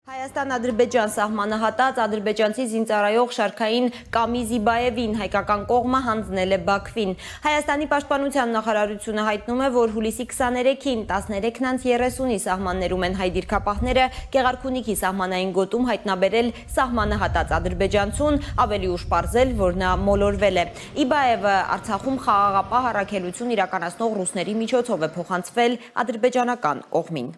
Հայաստան-Ադրբեջան սահմանը հատած ադրբեջանցի զինծառայող Շարքային Կամիզիբաևին հայկական կողմը հանձնել է Բաքվին։ Հայաստանի պաշտպանության նախարարությունը հայտնում է, որ հուլիսի 23-ին 13:30-ի սահմաններում են հայ դիրքապահները Գեղարքունիքի սահմանային գոտում հայտնաբերել սահմանը հատած ադրբեջանցուն, ավելի ուշ պարզել, որ նա մոլորվել է։ Իբաևը Արցախում խաղաղապահ առաքելություն իրականացնող ռուսների միջոցով է փոխանցվել ադրբեջանական կողմին։